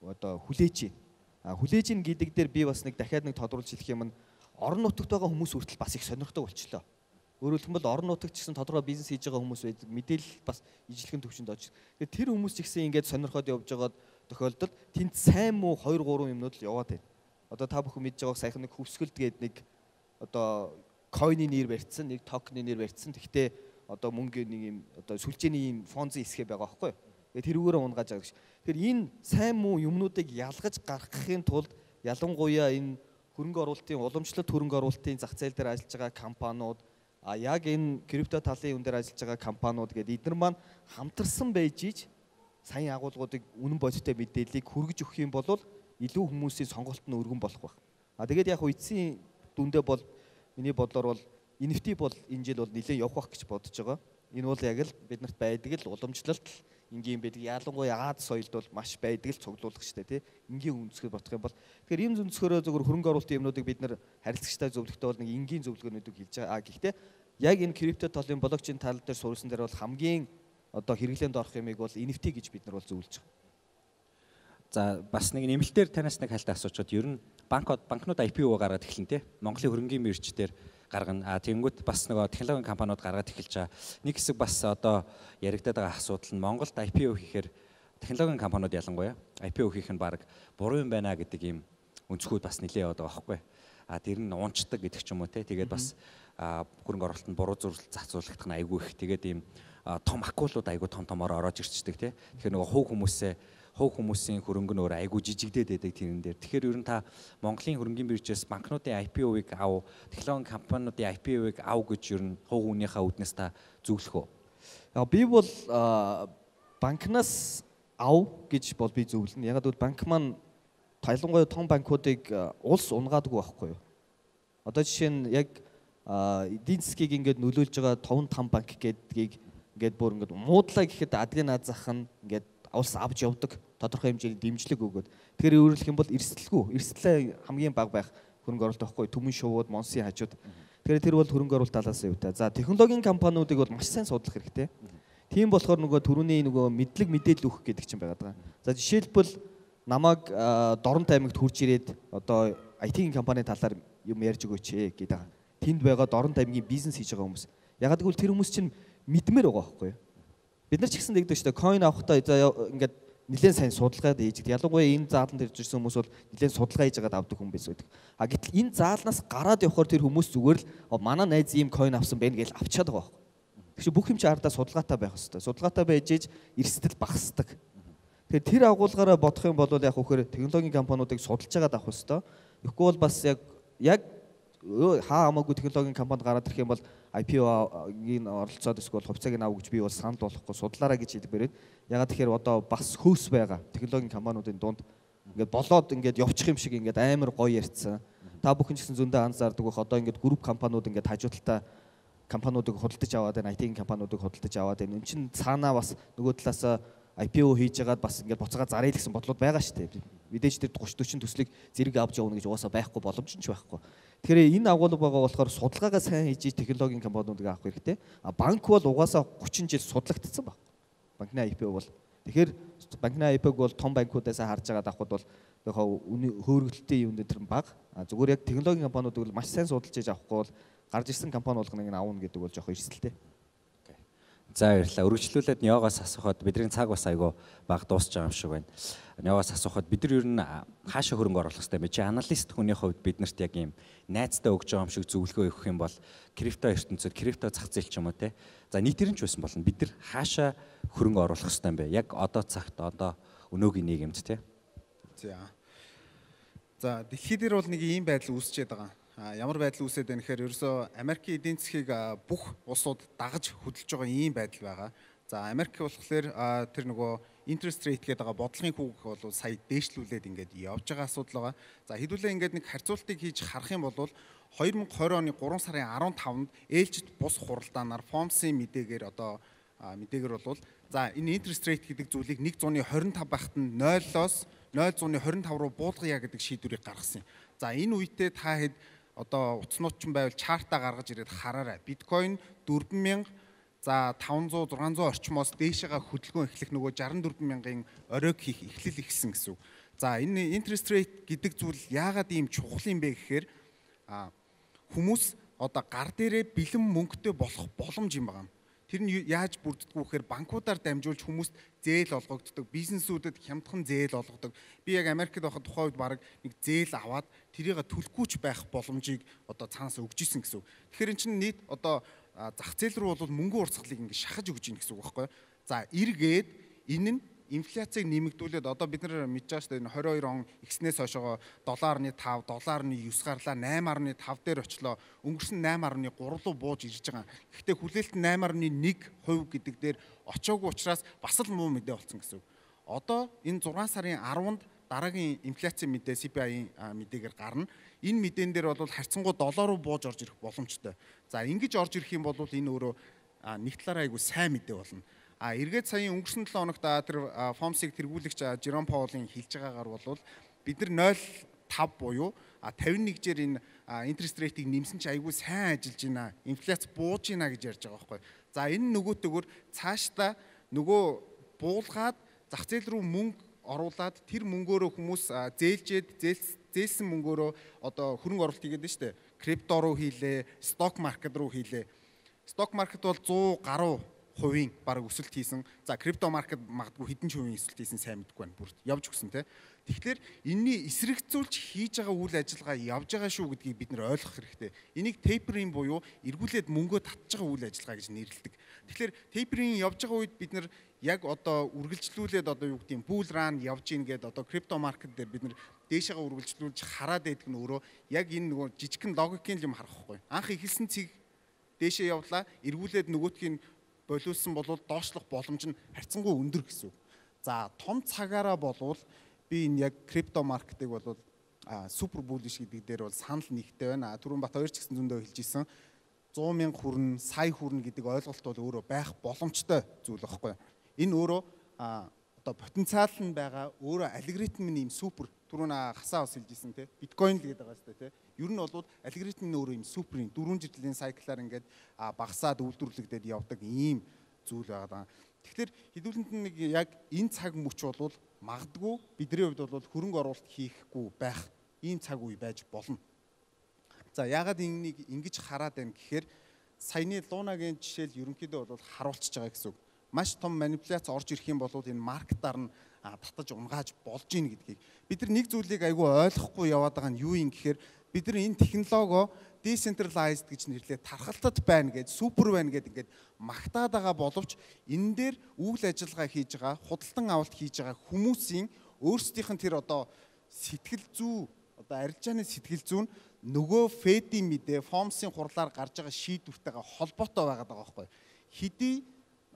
одоо хүлээж байна. Хүлээж ийн гэдэг дээр би бас нэг дахиад нэг тодруулж хэлэх юм нь орон нутагт байгаа хүмүүс хүртэл бас их сонирхдог болчихлоо. Өөрөөр хэлбэл орон нутагт ч гэсэн тодорхой бизнес хийж байгаа хүмүүс байдаг. Мэдээлэл бас ижлэхэн төвшөнд очиж. Тэгээд тэр хүмүүс ч гэсэн ингээд сонирхоод явж байгаа тохиолдолд тэнд сайн муу 2 3 юмнууд л яваад байна. Одоо та бүхэн мэдж байгааг саяхан нэг хөвсгөлд гээд нэг одоо койны нэр барьцсан, нэг токны нэр барьцсан. Тэгтээ одоо мөнгөний нэг юм одоо сүлжээний юм фонзын хэсгээ байгаа байхгүй юу? Тэгээд тэрүүгээрээ унгааж байгаа гэж. Тэгэхээр энэ сайн муу юмнуудыг ялгаж гаргахын тулд ялангуяа энэ хөрөнгө оруулалтын уламжлалт хөрөнгө оруулалтын зах зээл дээр ажиллаж байгаа компаниуд яг энэ крипто талын юм дээр ажиллаж байгаа компаниуд гэдэг эдгээр маань хамтарсан байж иж сайн агуулгуудыг үнэн бодиттой мэдээллийг хүргэж өгөх юм бол илүү хүмүүсийн сонголт нь өргөн болох байх. Тэгээд яг эцсийн дүндээ бол миний бодлоор бол NFT бол энэ жил бол нэлээд явах байх гэж бодож байгаа. Энэ бол яг л биднэрт байдаг л уламжлалт энгийн байдаг. Ялангуяа Аз соёлд бол маш байдаг л цуглуулагчтай тий. Энгийн үндэсгээр бодох юм бол тэгэхээр ийм зүндэсгөрөө зөвхөн хөрөнгө оруулалтын юмнуудыг бид нар харилцагчтай зөвлөхтэй бол нэг энгийн зөвлөгөөнүүдийг хэлж байгаа. Гэхдээ яг энэ крипто талын блокчейн тал дээр суурьсан дээр бол хамгийн одоо хэрэглээнд орох юмыг бол NFT гэж бид нар бол зөвлөж байгаа. За бас нэг нэмэлтээр танаас нэг хальтаа асуучод ер нь банкнууд IPO гаргаад эхлэн тий. Монголын хөрөнгөний мэрч дээр гаргана. Тэгэнгүүт бас нөгөө технологийн компаниуд гаргаад эхэлж байгаа. Нэг хэсэг бас одоо яригадаад байгаа асуудал нь Монголд IPO хийхээр технологийн компаниуд ялангуяа IPO хийх нь баг буруу юм байна гэдэг ийм өнцгүүд бас нэлээд яваад байгаа байхгүй. Тэр нь унцдаг гэдэг ч юм уу тий. Тэгээд бас хөрөнгө оруулалтанд буруу зөвлөлт зохицуулагдах нь айгүй их. Тэгээд ийм том акулууд айгүй томоор ороод ирчдэг тий. Тэгэхээр нөгөө хувь хүмүүсээ хувь хүмүүсийн хөрөнгө нь өөр айгүй жижигдээд байдаг тэрэн дээр. Тэгэхээр ер нь та Монголын хөрөнгөний биржээс банкнуудын IPO-ыг ав, технологи компаниудын IPO-ыг ав гэж ер нь хувь хүнийхээ үүднээс та зөвлөх үү? Би бол банкнаас ав гэж бол би зөвлөнө. Ягаад гэвэл банк маань ялангуяа том банкуудыг улс унгаадаг байхгүй юу? Одоо жишээ нь яг эдийн засгийг ингээд нөлөөлж байгаа 5 банк гэдгийг ингээд бүр ингээд муудлаа гэхэд адгийн наад зах нь ингээд улс авч явдаг тодорхой хэмжээний дэмжлэг өгөөд. Тэгэхээр өөрөлдөх юм бол эрсдлээ хамгийн бага байх хөрөнгө оруулалт байхгүй төмөн шувууд, монсын хажууд. Тэгэхээр тэр бол хөрөнгө оруулалт талаас нь юутай. За технологийн компаниудыг бол маш сайн судлах хэрэгтэй. Тийм болохоор нөгөө түрүүний нөгөө мэдлэг мэдээлэл өгөх гэдэг чинь байгаад байгаа. За жишээлбэл намайг Дорнот аймагт хурж ирээд одоо IT-ийн компани талаар юм ярьж өгөөч гэдэг. Тэнд байгаа Дорнот аймгийн бизнес хийж байгаа хүмүүс. Ягаад гэвэл тэр хүмүүс чинь мэдмээр байгаа байхгүй юу? Бид нар ч гэсэн тэгдэг шүү дээ. Coin авахдаа ингээд нэлээд сайн судалгаад хийж гэдэг. Ялангуяа энэ зааланд ирж ирсэн хүмүүс бол нэлээд судалгаа хийж агаад авдаг хүн биш байдаг. А гэтэл энэ заалнаас гараад явхаар тэр хүмүүс зүгээр л манай найз ийм coin авсан байна гэж авчаад байгаа байхгүй. Тэгэхээр бүх юм чи ардаа судалгаатай байх хэрэгтэй. Судалгаатай байж ээж эрсдэл багасдаг. Тэгэхээр тэр агуулгаараа бодох юм бол яг хөөхөр технологийн компаниудыг судалж агаад авах хэрэгтэй. Тэгэхгүй бол бас яг хаа хамаагүй технологийн компанид гараад ирэх юм бол IPO-гийн оролцоод эсвэл хувьцааг нь авах гэж би бол санал болгохгүй судлаараа гэж хэлбэрээд ягаад тэгэхээр одоо бас хөөс байгаа технологийн компаниудын дунд ингээд болоод ингээд явчих юм шиг ингээд амар гоё ярьцсан. Та бүхэн ч гэсэн зөндөө анзаардаг бах одоо ингээд групп компаниуд ингээд хажуудалтаа компаниудыг худалдаж аваад байна, IT-ийн компаниудыг худалдаж аваад байна. Энд чинь цаанаа бас нөгөө талаас IPO хийж яагаад бас ингээд буцаага заръя гэсэн бодлууд байгаа шүү дээ. Мэдээж тэр 30-40 төслийг зэрэг авч явна гэж угаасаа байхгүй боломж нь ч байхгүй. Тэгэхээр энэ агуулга байгаа болохоор судалгаагаа сайн хийж технологийн компаниудыг авах хэрэгтэй. Банк бол угаасаа 30 жил судлагдсан баг. Банкны IPO бол. Тэгэхээр банкны IPO-г бол том банкудаас харж агаад авахд бол хөөргөлттэй юм дээр баг. Зүгээр яг технологийн компаниудыг бол маш сайн судалж хийж авахгүй бол гарч ирсэн компани болгоныг нь авна гэдэг бол жоох эрсдэлтэй. За баярлалаа. Үргэлжлүүлээд Ниогоос асуухад бидний цаг бас айгүй баг дуусч байгаа юм шиг байна. Ниогоос асуухад бид нар ер нь хаашаа хөрөнгө оруулах хэрэгтэй бэ? Чи аналист хүний хувьд биднэрт яг ийм найцтай өгж байгаа юм шиг зөвлөгөө өгөх юм бол крипто ертөнцид крипто зах зээл ч юм уу те. За нийтээр нь ч байсан болно. Бид нар хаашаа хөрөнгө оруулах хэрэгтэй юм бэ? Яг одоо цагт одоо өнөөгийн нийгэмд те. За дэлхий дээр бол нэг ийм байдал үүсчээд байгаа. Ямар байдал үүсээд байна гэхээр ерөөсөө Америкийн эдийн засгийг бүх улсууд дагаж хөдөлж байгаа ийм байдал байгаа. За Америк болохоор тэр нөгөө interest rate гэдэг байгаа бодлогын хүүг бол сая дээшлүүлээд ингээд явж байгаа асуудал байгаа. За хэдүүлээ ингээд нэг харьцуултыг хийж харах юм бол 2020 оны 3 сарын 15-нд ээлжид бус хуралдаанаар FOMC-ийн мэдээгээр бол за энэ interest rate гэдэг зүйлийг 125 байхад нь 0-оос 0.25 руу буулгая гэдэг шийдвэрийг гаргасан юм. За энэ үедээ та хэд одоо утаснууд ч байвал чартаа гаргаж ирээд хараарай. Биткойн 4000 за 500 600 орчмоос дээшээгээ хөдөлгөөн эхлэх нөгөө 64000-ын оройг хийх эхлэл ихсэн гэсэн үг. За энэ interest rate гэдэг зүйл яагаад ийм чухал юм бэ гэхээр хүмүүс одоо гар дээрээ бэлэн мөнгөтэй болох боломж юм байна. Тэр нь яаж бүрддэг вэ гэхээр банкудаар дамжуулж хүмүүст зээл олгогддог, бизнесүүдэд хямдхан зээл олгодог. Би яг Америкт байхад тухайн үед баг нэг зээл аваад тэрийг төлөхгүйч байх боломжийг одоо цаанаас өгч исэн гэсэн үг. Тэгэхээр эн чинь нийт одоо зах зээл рүү бол мөнгө урсгалыг ингэ шахаж өгж ийн гэсэн үг байхгүй юу? За эргээд энэ нь инфляцийг нэмэгдүүлээд одоо бид нар мэдж байгаа шүү дээ 22 он ихснээс хойшоо 7.5, 7.9 гарлаа 8.5 дээр очлоо. Өнгөрсөн 8.3 руу бууж ирж байгаа. Гэхдээ хүлээлт 8.1% гэдэг дээр очоогүй учраас бас л муу мэдээ болсон гэсэн үг. Одоо энэ 6 сарын 10-нд дараагийн инфляцийн мэдээ CPI-ийн мэдээгээр гарна. Энэ мэдээн дээр бол харьцангуй 7 руу бууж орж ирэх боломжтой. За ингэж орж ирэх юм бол энэ өөрөө нэг талаараа айгүй сайн мэдээ болно. Эргээд саяын өнгөрсөн 7 хоногт тэр FOMC-ийг тэргүүлэгч Жером Паулын хэлж байгаагаар бол бид нар 0.5 буюу 51-жээр энэ интерест рейтийг нэмсэн чи айгүй сайн ажиллаж байна. Инфляц бууж байна гэж ярьж байгаа байхгүй. За энэ нөгөөтэйгөр цаашдаа нөгөө буулгаад зах зээл рүү мөнгө оруулаад тэр мөнгөөрөө хүмүүс зээлсэн мөнгөөрөө одоо хөрөнгө оруулалт хийгээд байна шүү дээ. Крипто руу хийлээ, сток маркет руу хийлээ. Сток маркет бол 100 гаруй хувийн баг өсөлт хийсэн. За крипто маркет магадгүй хэдэн ч хувийн өсөлт хийсэн сайн мэдгүй байна. Бүр явж өгсөн те. Тэгэхээр энэний эсрэгцүүлж хийж байгаа үйл ажиллагаа явж байгаа шүү гэдгийг бид нэр ойлгох хэрэгтэй. Энийг tapering буюу эргүүлээд мөнгөө татж байгаа үйл ажиллагаа гэж нэрлэдэг. Тэгэхээр tapering явж байгаа үед бид нэр яг одоо үргэлжлүүлээд одоо юу гэдэг юм bull run явж ийн гэдэг одоо крипто маркет дээр бид нэр дээшээгээ үргэлжлүүлж хараад байдаг нь өөрөө яг энэ нөгөө жижигхэн логикийн юм харахгүй. Анх ихэлсэн цэг дээшээ явлаа, эргүүлээд нөгөөтгийг болиулсан бол доошлох боломж нь харьцангуй өндөр гэсэн үг. За том цагаараа болвол би энэ яг крипто маркетыг бол супер буллиш гэдэг дээр бол санал нэгтэй байна. Түрүүн Бат хоёр ч гэсэн зөндөө хэлж исэн 100 мянга хүрнэ, сая хүрнэ гэдэг ойлголт бол өөрөө байх боломжтой зүйл байхгүй. Энэ өөрөө одоо потенциал нь байгаа өөрөө алгоритм нь юм супер түрүүн хасаа бас хэлжсэн те биткойн л гэдэг байгаа сте те ер нь бол алгоритм нь өөрөө юм суперийн 4 жилийн сайклаар ингээд багасаад үйлдвэрлэгдээд явдаг ийм зүйл байгаа. Тэгэхээр хэдүүлэнд нэг яг энэ цаг мөч бол магадгүй бидний хувьд бол хөрөнгө оруулалт хийхгүй байх ийм цаг үе байж болно. За яагаад энийг ингэж хараад байна гэхээр саяны Лунагийн жишээл ерөнхийдөө бол харуулчихж байгаа гэсэн үг. Маш том манипуляц орж ирэх юм бол энэ маркетаар нь татаж унгааж болж ийн гэдгийг бид нар нэг зүйлийг айгүй ойлгохгүй яваад байгаа нь юу юм гэхээр бид нар энэ технологио decentralized гэж нэрлээд тархалтад байна гэж супер байна гэдэг ингээд магтаад байгаа боловч энэ дээр үйл ажиллагаа хийж байгаа худалдан авалт хийж байгаа хүмүүсийн өөрсдийнх нь тэр одоо сэтгэл зүй одоо арилжааны сэтгэл зүй нь нөгөө фэдийн мэдээ фомсын хурлаар гарч байгаа шийдвэртэйгээ холбоотой байгаад байгаа байхгүй хэдий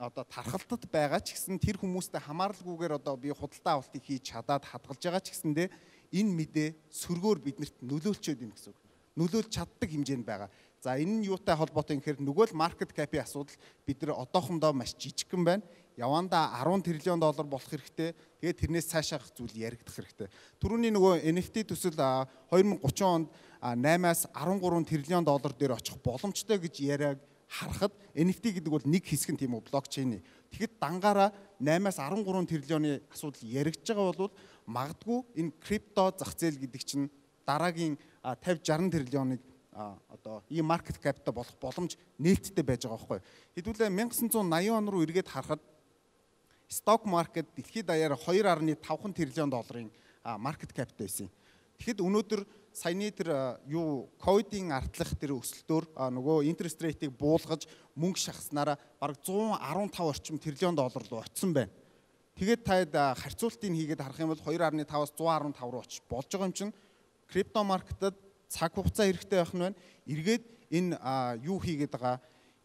одоо тархалтад байгаа ч гэсэн тэр хүмүүстэй хамааралгүйгээр одоо би худалдан авалтыг хийж чадаад хадгалж байгаа ч гэсэндээ энэ мэдээ сөргөөр биднэрт нөлөөлчөөд юм гэсэн үг. Нөлөөлж чаддаг хэмжээнд байгаа. За энэ нь юутай холбоотой юм гэхээр нөгөө л маркет капийн асуудал бид нар одоохондоо маш жижигхэн байна. Явандаа 10 тэрлион доллар болох хэрэгтэй. Тэгээд тэрнээс цаашаах зүйл яригдах хэрэгтэй. Түрүүний нөгөө NFT төсөл 2030 онд 8-аас 13 тэрлион доллар дээр очих боломжтой гэж яриаг харахад NFT гэдэг бол нэг хэсэг нь тийм үү блокчейн. Тэгэхэд дангаараа 8-аас 13 тэрлионы асуудал яригдж байгаа бол магадгүй энэ крипто зах зээл гэдэг чинь дараагийн 50-60 тэрлионыг одоо ийм маркет капитал болох боломж нээлттэй байж байгаа байхгүй. Хэдүүлээ 1980 он руу эргээд харахад сток маркет дэлхийд даяар 2.5 тэрлион долларын маркет капитал байсан. Тэгэхэд өнөөдөр саяны тэр ковидын артлах тэр өсөлтөөр нөгөө интерест рейтийг буулгаж мөнгө шахснараа бараг 115 орчим тэрлион доллар руу очсон байна. Тэгээд та харьцуултыг хийгээд харах юм бол 2.5-аас 115 руу очиж болж байгаа юм чинь крипто маркетад цаг хугацаа хэрэгтэй байх нь байна. Эргээд энэ юу хийгээд байгаа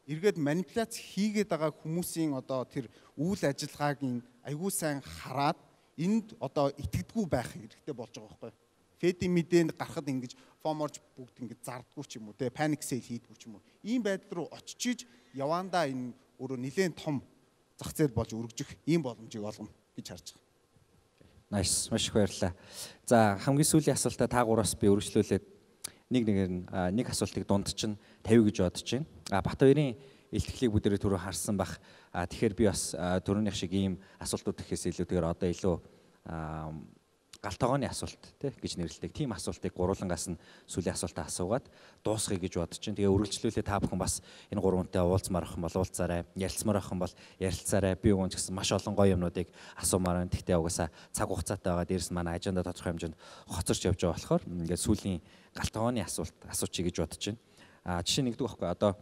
эргээд манипуляц хийгээд байгаа хүмүүсийн одоо тэр үйл ажиллагааг айгүй сайн хараад энд одоо итгэдэггүй байх хэрэгтэй болж байгаа байхгүй. Фэдийн мэдээнд гарахад ингэж фоморж бүгд ингэж зардггүй ч юм уу те паник сейл хийдгүү ч юм уу. Ийм байдал руу очиж явандаа энэ өөрөө нэлээд том зах зээл болж өргөжих ийм боломжийг олгоно гэж харж байгаа. Nice, маш их баярлалаа. За хамгийн сүүлийн асуултаа та гураас би өргөжлүүлээд нэг асуултыг дунд чинь 50 гэж бодож байна. Бат хоёрын илтгэлийг бүдэрээ түрүү харсан бах. Тэгэхээр би бас түрүүнийх шиг ийм асуултууд гэхээс илүүтэйгээр одоо илүү галтогооны асуулт гэж нэрлэдэг. Тийм асуултыг гурвангаас нь сүүлийн асуултаа асуугаад дуусгая гэж бодож байна. Тэгээ үргэлжлүүлээ та бүхэн бас энэ гурвантай уулзмаар ах юм бол уулзаарай. Ярилцмаар ах юм бол ярилцаарай. Би өгөн ч гэсэн маш олон гоё юмнуудыг асуумаар байна. Тэгтээ угаасаа цаг хугацаатай байгаа. Дээрс нь манай аженда тодорхой хэмжээнд хоцорч явж байгаа болохоор ингээд сүүлийн галтогооны асуулт асуучих гэж бодож байна. Жишээ нэгдэг байхгүй. Одоо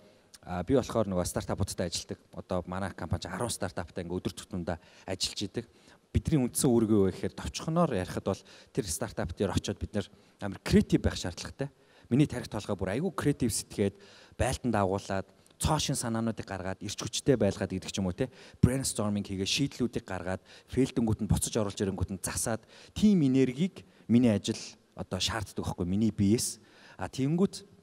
би болохоор нөгөө стартапуудтай ажилладаг. Одоо манай компани 10 стартаптай ингээд өдөр тутамдаа ажиллаж идэг. Бидний үндсэн үүрэг юу вэ гэхээр товчхоноор ярихад бол тэр стартап дээр очиод бид нэр амар креатив байх шаардлагатай. Миний тарих толгой бүр айгүй креатив сэтгээд байлтанд агуулад цоошин санаануудыг гаргаад ирч хүчтэй байлгаад гэдэг ч юм уу те брейнсторминг хийгээ шийдлүүдийг гаргаад фейлдэнгүүд нь буцаж оруулж ирэнгүүд нь засаад тим энергийг миний ажил одоо шаарддаг байхгүй миний биеэс тэгэнгүүт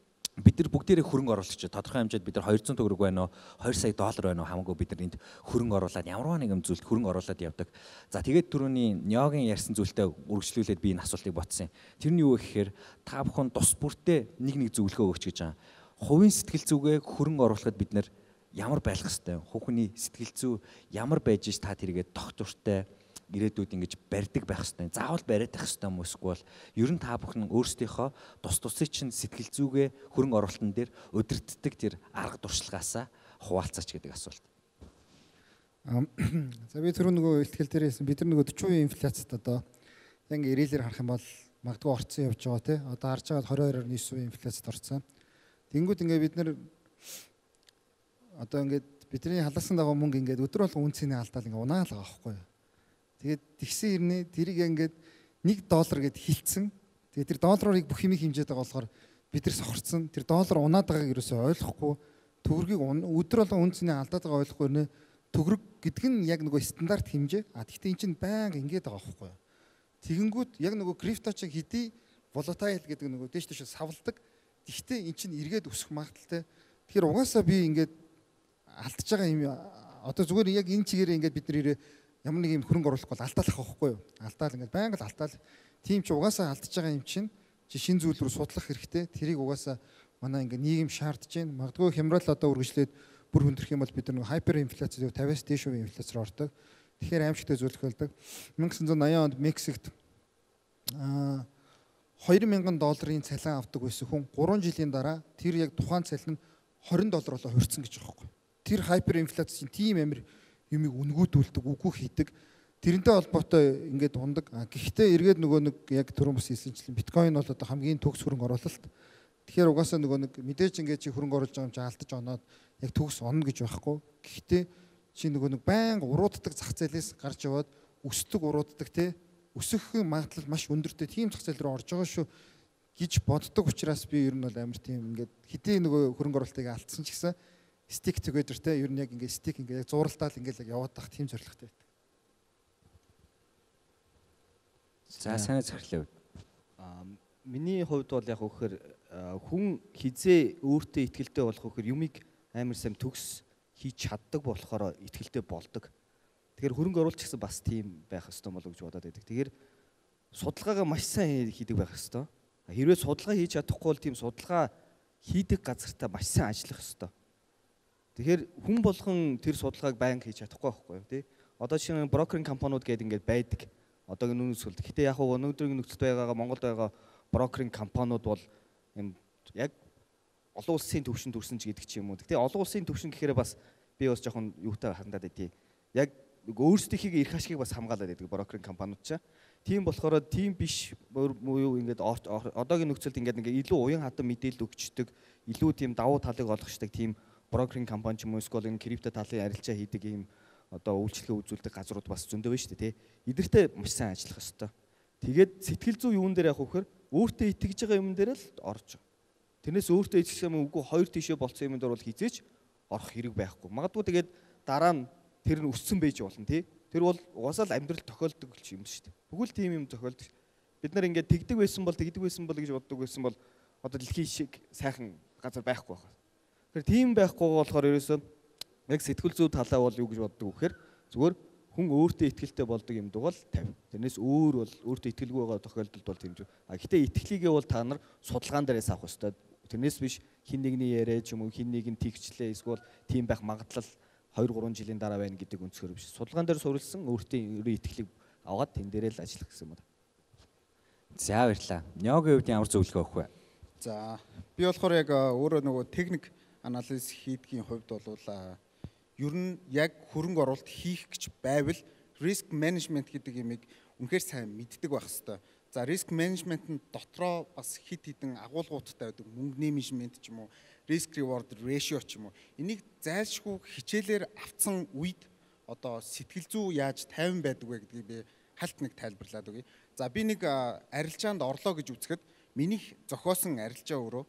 бид нар бүгдээрээ хөрөнгө оруулагч тодорхой хэмжээнд бид нар 200 төгрөг байна уу 2 сая доллар байна уу хамаагүй бид нар энд хөрөнгө оруулаад ямарваа нэгэн зүйлд хөрөнгө оруулаад явдаг. За тэгээд түрүүний Ниогийн ярьсан зүйлтэй үргэлжлүүлээд би энэ асуултыг ботсон. Тэр нь юу гэхээр та бүхэн тус бүртээ нэг зөвлөгөө өгч гэж байгаа. Хувийн сэтгэл зүгээ хөрөнгө оруулахад бид нар ямар байх хэвтэй хүүхний сэтгэл зүй ямар байж та тэргээд доктортой ирээдүйд ингэж барьдаг байх хэвээр. Заавал бариад байх хэвээр юм эсвэл ер нь та бүхэн өөрсдийнхөө тус тусыг чинь сэтгэл зүгээ хөрөнгө оруулалтын дээр өдөртдөг тэр арга туршлагаасаа хуваалцаач гэдэг асуулт. За би түрүү нөгөө ихтгэл дээр хэлсэн бид нар нөгөө 40% инфляцид одоо яг ирээлэр харах юм бол магадгүй орцсон явж байгаа тий. Одоо харж байгаа 22.9% инфляцид орцсон. Тэнгүүд ингээд бид нар одоо ингээд бидний халаасан дагуу мөнгө ингээд өдөр болгон үн цэний алдаал ингээд унаалгаа байхгүй юу. Тэгээд тэгсэн хэрнээ тэрийг ингээд $1 гэд хилцсэн. Тэгээд тэр долларыг бүх юмыг хэмжээд байгаа болохоор бид нар сохорцсон. Тэр доллар унаад байгааг ерөөсөй ойлгохгүй төгрөгийг өдөр болгон үн цэний алдаад байгаа ойлгохгүй нэ төгрөг гэдэг нь яг нөгөө стандарт хэмжээ. Гэхдээ эн чинь байнга ингээд байгаа байхгүй юу. Тэгэнгүүт яг нөгөө крипто чиг хэдий volatile гэдэг нөгөө дэш дэш савладаг. Гэхдээ эн чинь эргээд өсөх магадaltaй. Тэгэхээр угаасаа би ингээд алдчихж байгаа юм одоо зүгээр яг энэ чигээр ингээд бид нэр ямар нэг юм хөрөнгө оруулах бол алдаалах байхгүй юу? Алдаал ингээд байнга л алдаал. Тийм ч угаасаа алдчихж байгаа юм чинь шин зүйл рүү судлах хэрэгтэй. Тэрийг угаасаа манай ингээд нийгэм шаардж байна. Магадгүй хямрал одоо үргэлжлээд бүр хүндрэх юм бол бид нар хайпер инфляцид 50-аас дээш хувийн инфляц руу ордог. Тэгэхээр аимшигтай зүйлх болдог. 1980 онд Мексикт $2,000 цалин авдаг байсан хүн 3 жилийн дараа тэр яг тухайн цалин нь $20 болоо хувирсан гэж байгаа юм. Тэр хайпер инфляц чинь тийм амир юмыг үнгүүдүүлдэг, үгүй хийдэг. Тэрнтэй холбоотой ингээд ундаг. Гэхдээ эргээд нөгөө нэг яг түрүүн бас хэлсэнчлэн биткойн бол одоо хамгийн төгс хөрөнгө оруулалт. Тэгэхээр угаасаа нөгөө нэг мэдээж ингээд чи хөрөнгө оруулж байгаа юм чи алдаж оноод яг төгс онно гэж байхгүй. Гэхдээ чи нөгөө нэг байнга урууддаг зах зээлээс гарч яваад өсдөг урууддаг те өсөх магадлал маш өндөртэй тийм зах зээл рүү орж байгаа шүү гэж боддог учраас би ер нь бол амар тийм ингээд хэдий нөгөө хөрөнгө оруулалтыг алдсан ч гэсэн stick together те ер нь яг ингээд stick ингээд зуралдаал ингээд яг яваад тах тийм зорилготой байдаг. За санаа захирлаа. Миний хувьд бол яг өгөхөр хүн хизээ өөртөө ихтгэлтэй болох өгөхөр юмыг амар сайн төгс хийж чаддаг болохоор ихтгэлтэй болдог. Тэгэхээр хөрөнгө оруулалт гэсэн бас тийм байх ёстой болов гэж бодоод байдаг. Тэгэхээр судалгаагаа маш сайн хийдэг байх ёстой. Хэрвээ судалгаа хийж чадахгүй бол тийм судалгаа хийдэг газартаа маш сайн ажиллах ёстой. Тэгэхээр хүн болгон тэр судалгааг байнга хийж чадахгүй байхгүй юу тий. Одоо жишээ нь брокеринг компаниуд гэдэг ингээд байдаг. Одоогийн үнэс сүлд. Гэтэ яг хөө өнөөдрийн нөхцөлд байгаа Монголд байгаа брокеринг компаниуд бол юм яг олон улсын төвшөнд төрсөн ч гэдэг ч юм уу. Гэтэ олон улсын төвшин гэхээр бас би бас жоохон юутай хандаад байдیں۔ Яг өөрсдийнхээ эрх ашигыг бас хамгаалаад байдаг брокеринг компаниуд ч. Тийм болохоор тийм биш юу ингээд одоогийн нөхцөлд ингээд илүү уян хатан мэдээлэл өгчдөг, илүү тийм давуу талыг олгочдаг тийм брокеринг компани ч юм уу эсвэл энэ крипто талын арилжаа хийдэг ийм одоо үйлчлэгээ үзүүлдэг газрууд бас зөндөө байна шүү дээ тий. Эдгэртэй маш сайн ажиллах ёстой. Тэгээд сэтгэл зүй юун дээр явах вөхөр өөртөө итгэж байгаа юм дээр л орж. Тэрнээс өөртөө итгэж юм үгүй хоёр тишээ болцсон юм дээр бол хизээч орох хэрэг байхгүй. Магадгүй тэгээд дараа нь тэр нь өссөн байж болно тий. Тэр бол угаасаа л амьдрал тохиолдог юм шүү дээ. Бүгд тийм юм тохиолдог. Бид нар ингээд тэгдэг байсан бол гэж боддог байсан бол одоо дэлхийн шиг сайхан газар байхгүй байна. Тэгэхээр тийм байхгүй болохоор ерөөсөө яг сэтгэл зүй талаа бол юу гэж боддог вэхээр зүгээр хүн өөртөө итгэлтэй болдог юм дугал 50. Тэрнээс өөр бол өөртөө итгэлгүй байгаа тохиолдолд бол тийм ч. Гэхдээ итгэлийгээ бол та нар судалгаан дээрээс авах ёстой. Тэрнээс биш хин нэгний яриа ч юм уу хин нэг нь тэгчлээ эсвэл тийм байх магадлал 2-3 жилийн дараа байна гэдэг өнцгөр биш. Судалгаан дээр суурилсан өөртөө итгэлийг аваад тэн дээрээ л ажиллах гэсэн юм байна. За баярлалаа. Нёгийн хувьд ямар зөвлөгөө өгөх вэ? За би болохоор яг өөрөө нөгөө техник анализ хийдгийн хувьд бол ер нь яг хөрөнгө оруулалт хийх гэж байвал риск менежмент гэдэг юмыг үнэхээр сайн мэддэг байх хэрэгтэй. За риск менежментийн дотроо бас хит хитэн агуулгуудтай байдаг. Мөнгөний менежмент ч юм уу, риск reward ratio ч юм уу. Энийг зайлшгүй хичээлээр авцсан үед одоо сэтгэл зүй яаж тайван байдаг вэ гэдгийг би хальт нэг тайлбарлаад өгье. За би нэг арилжаанд орлоо гэж үзэхэд миний зохиосон арилжаа өөрөө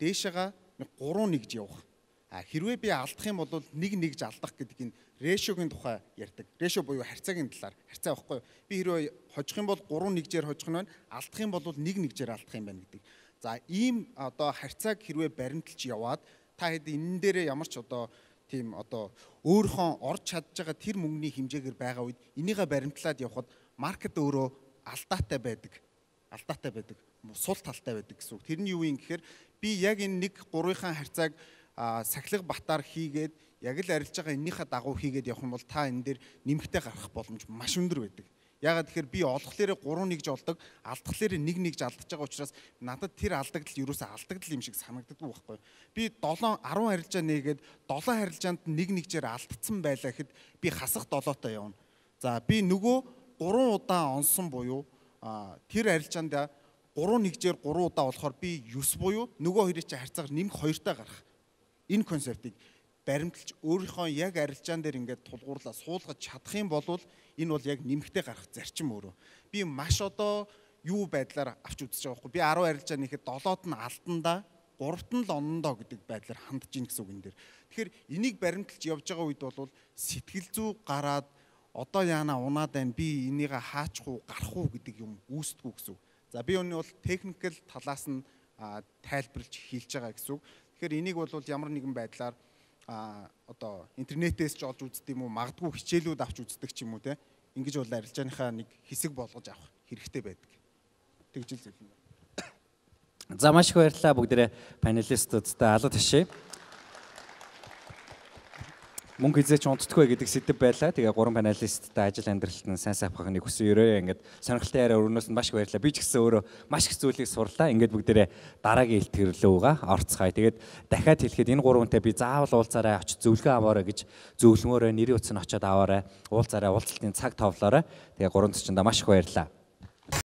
дээшээгээ 3 нэгж явах. Хэрвээ би алдах юм бол 1-1 алдах гэдэг энэ ratio-гийн тухай ярьдаг. Ratio буюу харьцаагийн талаар. Харьцаа байхгүй юу? Би хэрвээ хожих юм бол 3-1-жээр хожих нь байна. Алдах юм бол 1-1-жээр алдах юм байна гэдэг. За ийм одоо харьцааг хэрвээ баримталж яваад та хэд энэ дээрээ ямар ч одоо тийм одоо өөрийнхөө орж чадж байгаа тэр мөнгөний хэмжээгээр байгаа үед энийгээ баримтлаад явхад маркет өөрөө алдаатай байдаг. Алдаатай байдаг. Сул талтай байдаг гэсэн үг. Тэр нь юу юм гэхээр би яг энэ 1-3-ын харьцааг сахилга батаар хийгээд яг л арилж байгаа эннийхээ дагуу хийгээд явах юм бол та энэ дээр нэмэгтэй гарах боломж маш өндөр байдаг. Яагаад тэгэхээр би олохлээрээ 3-1 олдог, алдахлээрээ 1-1 алдаж байгаа учраас надад тэр алдагдал ерөөсөө алдагдал юм шиг санагддаг байхгүй. Би 7-10 арилжаа нээгээд 7 арилжаанд 1-1-жээр алдсан байлаа гэхэд би хасах 7-тоо явна. За би нөгөө 3 удаа онсон буюу тэр арилжаанд 3-1-ээр 3 удаа болохоор би 9 буюу нөгөө хоёрын чинь харьцаагаар нэмэх 2-таа гарах. Энэ концептыг баримталж өөрийнхөө яг арилжаан дээр ингээд тулгуурлаа суулгаж чадах юм бол энэ бол яг нэмэхтэй гарах зарчим өөрөө. Би маш одоо юу байдлаар авч үзэж байгаа байхгүй. Би 10 арилжаа нэхэд 7-д нь алдандаа 3-т нь л онондоо гэдэг байдлаар хандж ийн гэсэн үг энэ дээр. Тэгэхээр энийг баримталж явж байгаа үед бол сэтгэл зүй гараад одоо яана унаад байна би энийг хаачих уу гарах уу гэдэг юм үүсдэггүй гэсэн үг. За би өнөө бол техникэл талаас нь тайлбарлаж хэлж байгаа гэсэн үг. Тэгэхээр энийг бол ямар нэгэн байдлаар одоо интернетээс ч олж үздэг юм уу магадгүй хичээлүүд авч үздэг ч юм уу те ингэж бол арилжааныхаа нэг хэсэг болгож авах хэрэгтэй байдаг. Тэгж л зөвлөн. За маш их баярлалаа бүгдээрээ панелистуудтай алга ташээ. Мөнгө хизээч унтдаггүй гэдэг сэдв байлаа. Тэгээ 3 панелисттай ажил амьдралд нь сайн сайхахыг хүсэн ерөө ингээд сонирхолтой яриа өрнөөс нь маш их баярлалаа. Би ч гэсэн өөрөө маш их зүйлийг сурлаа. Ингээд бүгдээрээ дараагийн илтгэрлүүгээ орцгаая. Тэгээд дахиад хэлэхэд энэ 3 хүнтэй би заавал уулзаарай очиж зөвлөгөө аваарай гэж зөвлөмөөрөө нэрийн утас нь очиод аваарай. Уулзаарай, уулзалтын цаг товлоорой. Тэгээ 3 төчөндөө маш их баярлалаа.